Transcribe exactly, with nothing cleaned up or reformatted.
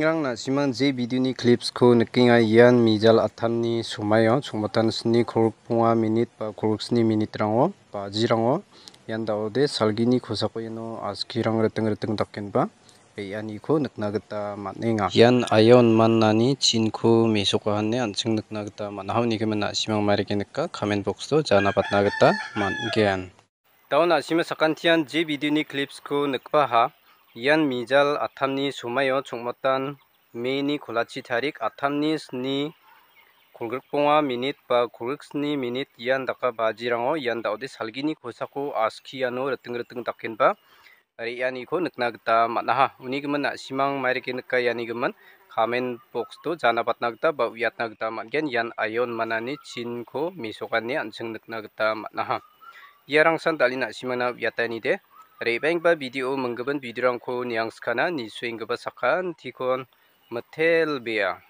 Rang na·simang je video-ni clips-ko nikenga, ian mijal attamni somaio, chongmatan sni kolgrikbonga minit ba kolgriksni minit-rango, bajirango, ian da·ode salgini kosako iano askirang riting riting dakenba re·aniko nikna gita man·enga. Ian aia onmanani chinko mesoka ine an·ching nikna gita man·aha. Unigimin na·simang mairike nika, comment box-o jana patna gita man·gen. Da·o na·sima sakantian je video-ni clips-ko nikbaha. Ian mijal attamni somaio chongmatan May-ni kolachi tarik attamni sni kolgrikbonga minit ba kolgriksni minit ian daka bajirango ian da·ode salgini kosako aski iano riting riting dakenba re·aniko nikna gita man·aha. Unigimin na·simang mairike nika ianigimin comment box-o jana patna gita ba uiatna gita man·gen. Ian aia onmanani chinko mesokani an·ching nikna gita man·aha. Iarangsan dal·e na·simangna uiataenide. Re·baenggipa video, minggipa video-rangko niangskana, nisuenggipa sakantikon mitelbea.